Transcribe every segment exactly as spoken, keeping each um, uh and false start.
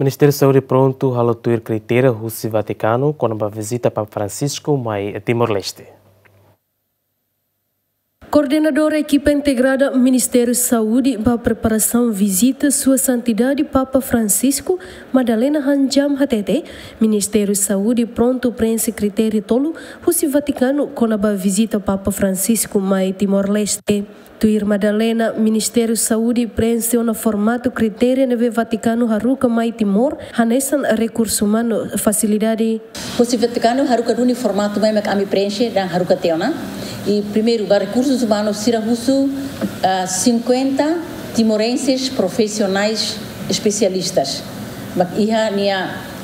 Ministériu Saúde prontu halo tuir kritéria husi Vatikanu kona-ba vizita Papa Francisco mai Timor-Leste. Koordenadora ekipa integrada Ministériu Saúde ba preparasaun vizita Sua Santidade Papa Francisco, Madalena Hanjam hatete, Ministériu Saúde prontu preenxe kritériu tolu husi Vatikanu kona-ba vizita Papa Francisco mai Timor-Leste. Tuir Madalena, Ministériu Saúde preenxe ona formatu kritéria ne'ebé Vatikanu haruka mai Timor, hanesan rekursu umanu, fasilidade. Husi Vatikanu haruka duni formatu mai mak ami preenxe no haruka tiha ona. I primeiru, ba rekursus umanus sira husu, ah, cinquenta timorenses profissionais especialistas. Mak iha nia,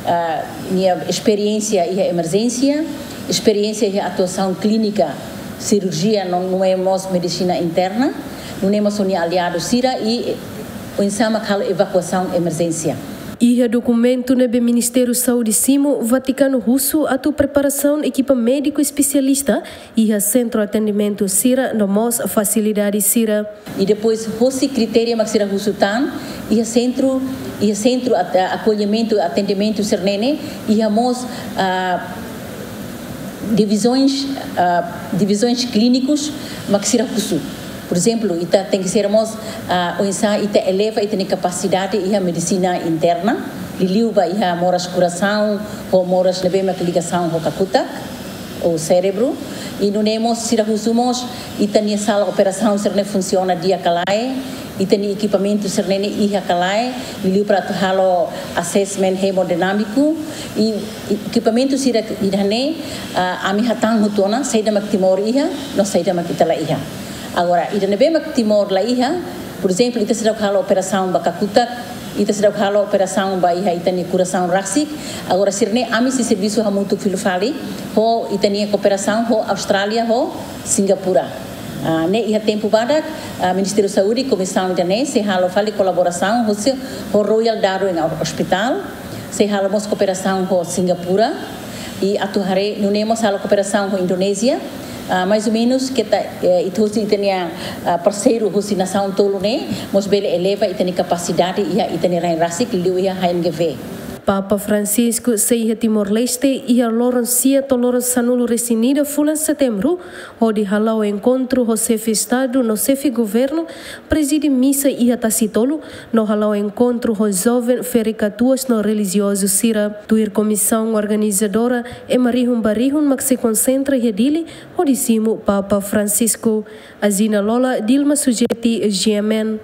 ah, nia esperiénsia iha emerjénsia, esperiénsia iha atuasaun klínika, sirurjia, no, no mós medisina interna, nune'e mós ho nia aliadu sira i, eh, oinsá mak halo evakuasaun emerjénsia. Iha dokumentu ne'ebé Ministériu Saúde simu, Vatikanu husu atu preparasaun ekipa médiku espesialista iha sentru atendimentu sira no mós fasilidade sira. I depois, hosi kritéria mak sira husu tan, iha sentru, iha sentru at-, akollimentu, atendimentu sira-ne'e, iha mós, ah, divizoens, ah, divizoens klínikus mak sira husu. Por ezemplu, ita tenke ser mós, ah, oinsá ita eleva ita-nia kapasidade iha medisina interna, liuliu ba iha moras korasaun, ho moras ne'ebé mak ligasaun ho kakutak, ou sérebru. I nune'e mós sira husu mós ita-nia sala operasaun sira-ne'e funsiona di'ak ka lae, ita-nia ekipamentu sira-ne'e iha ka lae, liuliu para atu halo assessment hemodinámiku, i, i ekipamentu sira ida-ne'e, ah, ami hatán hotu ona, saida mak Timor iha, no saida mak ita la iha. Agora, ida ne'ebé mak Timor la iha, por ezemplu, ita seidauk halo operasaun ba kakutak, ita seidauk halo operasaun ba iha ita-nia korasaun rasik. Agora, sira-ne'e ami sei servisu hamutuk fila fali ho ita-nia kooperasaun ho Austrália, ho Singapura. Ah, ne'e iha tempu badak, ah, Ministériu Saúde, komisaun ida-ne'e sei halo fali kolaborasaun ho se-, ho Royal Darwin Hospital, sei halo mós kooperasaun ho Singapura, i atu haree nune'e mós halo kooperasaun ho Indonézia, ah, mais ou menus keta, eh, ita hosi ita-nia, ah, parseiru hosi nasaun tolu ne'e, mós bele eleva ita-nia kapasidade iha ita-nia rain rasik, liuliu iha H N G V. Papa Francisco sei iha Timor-Leste iha loron sia to'o loron sanulu-resin-ida fulan Setembru, hodi hala'o enkontru ho xefe Estadu no xefe Governu, prezide misa iha Tasitolu, no hala'o enkontru ho joven, ferik-katuas no relijiozu sira. Tuir komisaun organizadora, ema rihun ba rihun mak sei konsentra iha Dili, hodi simu Papa Francisco. Azina Lola, Dilma Sujeti, G M N.